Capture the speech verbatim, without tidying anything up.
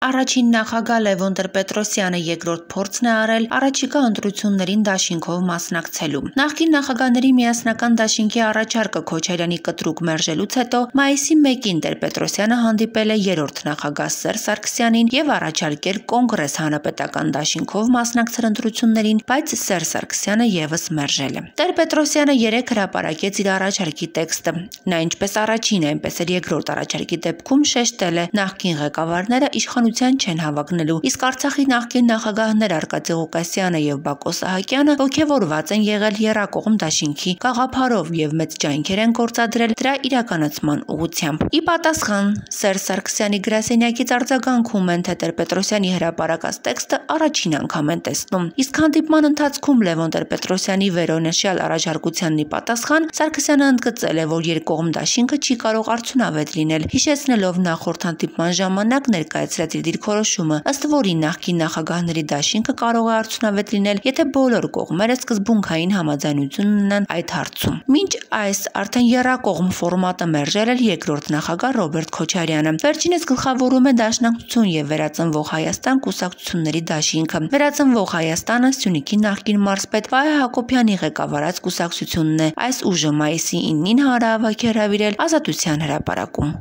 Առաջին նախագահ Լևոն Տեր-Պետրոսյանը երկրորդ փորձն է արել առաջիկա ընտրություններին դաշինքով մասնակցելու։ Նախկին նախագահների միասնական դաշինքի առաջարկը Քոչարյանի կտրուկ մերժելուց հետո մայիսի մեկին Տեր-Պետրոսյանը հանդիպել է երրորդ նախագահ Սերժ Սարգսյանին եւ առաջարկել կոնգրես հանրապետական դաշինքով մասնակցել ընտրություններին, բայց Սերժ Սարգսյանը եւս մերժել է։ Տեր-Պետրոսյանը երեկ հրապարակեց իր առաջարկի տեքստը։ Նա ինչպես առաջին, այնպես էլ երկրորդ առաջարկի դեպքում շեշտել է նախկին ղեկավարները իշխանության չեն հավակնելու, իսկ Արցախի նախկին նախագահներ Արկադի Ղուկասյանը եւ Բակո Սահակյանը ողջավորված են եղել եռակողմ դաշինքի գաղափարով եւ մեծ ջանքեր են գործադրել դրա իրականացման ուղղությամբ։ Ի պատասխան Սերժ Սարգսյանի գրասենյակից արձագանքում են, թե Տեր-Պետրոսյանի հրապարակած տեքստը առաջին անգամ են տեսնում։ Իսկ հանդիպման ընթացքում Լևոն Տեր-Պետրոսյանի վերոնշյալ առաջարկությանն ի պատասխան Սարգսյանը ընդգծել է, որ երկկողմ դաշինքը չի կարող արդյունավետ լինել, հիշեցնելով նախորդ հանդիպման ժամանակ ներկայացրած իր դիրքորոշումը, ըստ որի նախկին նախագահների դաշինքը կարող է արդյունավետ լինել, եթե բոլոր կողմերը սկզբունքային համաձայնություն ունենան այդ հարցում։ Մինչ այս արդեն եռակողմ ֆորմատը մերժել էր երկրորդ նախագահ Ռոբերտ Քոչարյանը։ Վերջինս գլխավորում է Դաշնակցություն եւ Վերածնվող Հայաստան կուսակցությունների դաշինքը։ Վերածնվող Հայաստանը Սյունիքի նախկին մարզպետ Վահե Հակոբյանի ղեկավարած կուսակցությունն է։ Այս ուժը մայիսի իննին հանրահավաք է հրավիրել Ազատության հրապարակում։